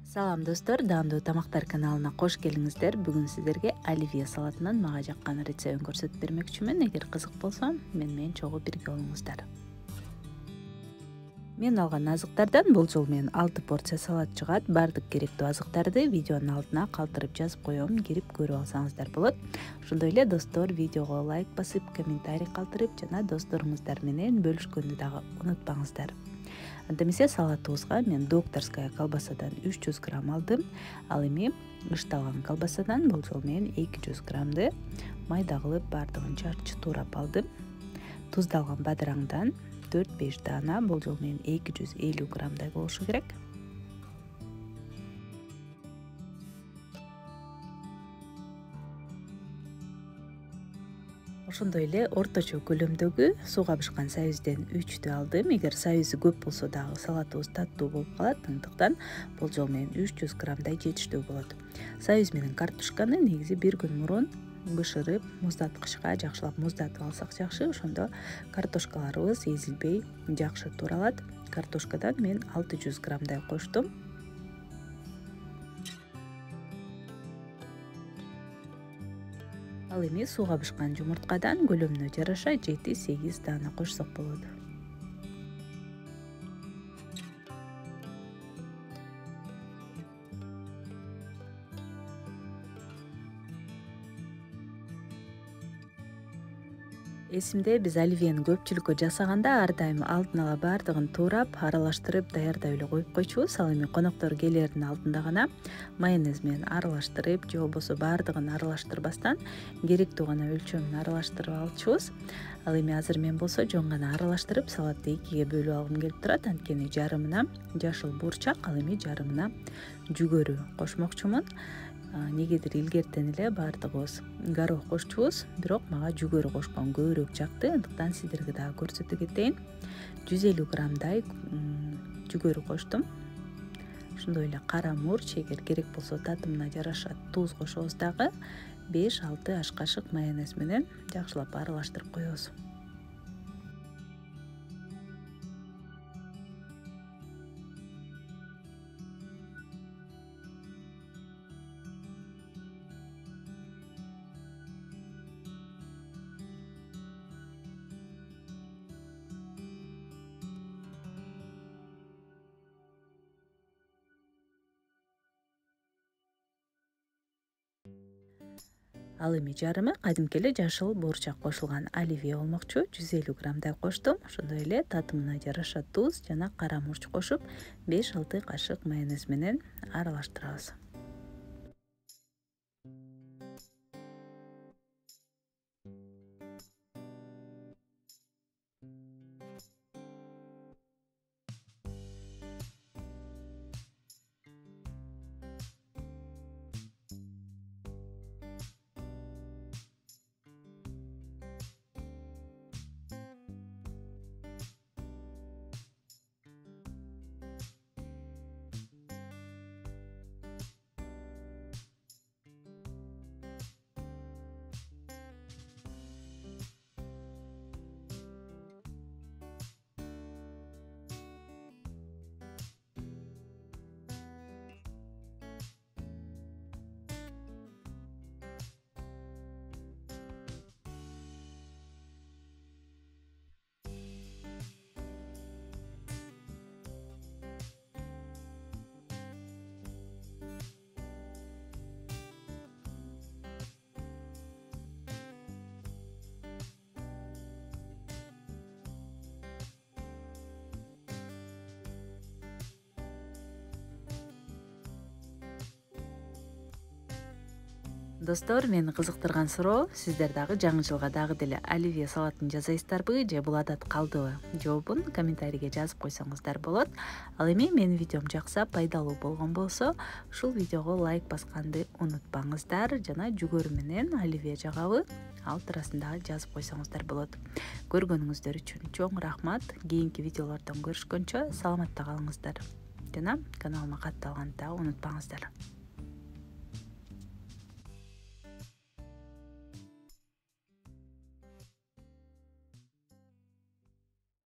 Салам достор, даамдуу тамактар каналына кош келиңиздер. Бүгүн сиздерге оливье салатынан мага жаккан рецептин көрсөтүп бермекчимин. Эгер кызык болсо, мени чогуу бирге болуңуздар. Мен алган азыктардан бул жолу мен 6 порция салат чыгат. Бардык керектүү азыктарды видеонун алтына калтырып жазып коем, кирип көрүп алсаңыздар болот. Ошондой эле достор, видеого лайк басып, комментарий калтырып жана досторуңуздар менен бөлүшкөндү дагы унутпаңыздар. Анда эмесе салатыбызга мен докторская колбасадан 300 грамм алдым. Ал эми ышталган колбасадан бул жолу мен 200 граммды майда кылып бардыгын жарчы туурап алдым. Туздалган бадыраңдан 4-5 даана, бул жолу мен 250 граммдай болушу керек. Ошондой эле орточо көлөмдөгү сууга бышкан сабизден 3тү алдым. Эгер сабизи көп болсо дагы салатыбыз таттуу болуп калат. Андыктан бул жолу мен 300 граммдай жетиштүү болот. Сабиз менен картошканы негизи бир күн мурун бышырып, муздаткычка жакшылап муздатып алсак жакшы. Ошондо картошкаларыбыз эзилбей жакшы тууралат. Картошкадан мен 600 граммдай коштум. Ал эми сууга бышкан жумурткадан көлөмүнө жараша 7-8 даана кошсок болот. Эсимде биз оливьени көпчүлүккө жасаганда ар дайым алдын ала бардыгын туурап, аралаштырып, даярдап эле коюп койчубуз. Ал эми коноктор келердин алдында гана майонез менен аралаштырып, же болбосо бардыгын аралаштырбастан керектүү гана өлчөмүн аралаштырып алчубуз. Ал эми азыр мен болсо жөн гана аралаштырып, салатты экиге бөлүп алгым келип турат. Анткени жарымына жашыл бурчак, ал эми жарымына жүгөрү кошмокчумун. Негедир илгертен эле бардыгыбыз горох кошчубуз, бирок мага жүгөрү кошкон көбүрөөк жакты. Андыктан сиздерге дагы көрсөтө кетейин. 150 граммдай жүгөрү коштум. Ошондой эле кара мурч, эгер керек болсо татымына жараша туз кошобуз дагы. 5-6 аш кашык майонез менен жакшылап аралаштырып коебуз. Ал эми жарымы кадимки эле жашыл бурчак кошулган оливье болмокчу. 150 граммдай коштум. Ошондой эле татымына жараша туз жана кара мурч кошуп, 5-6 кашык майонез менен аралаштырабыз. Достор, мени кызыктырган суроо, сиздер дагы жаңы жылга дагы деле оливье салатын жасайсыздарбы же бул адат калдыбы? Жообун комментарийге жазып койсоңуздар болот. Ал эми менин видеом жакса, пайдалуу болгон болсо, ушул видеого лайк басканды унутпаңыздар жана жүгөрү менен оливье жагабы ал туурасында дагы жазып койсоңуздар болот. Көргөнүңүздөр үчүн чоң рахмат. Кийинки видеолордон көрүшкөнчө саламатта калыңыздар жана каналыма катталганды дагы унутпаңыздар.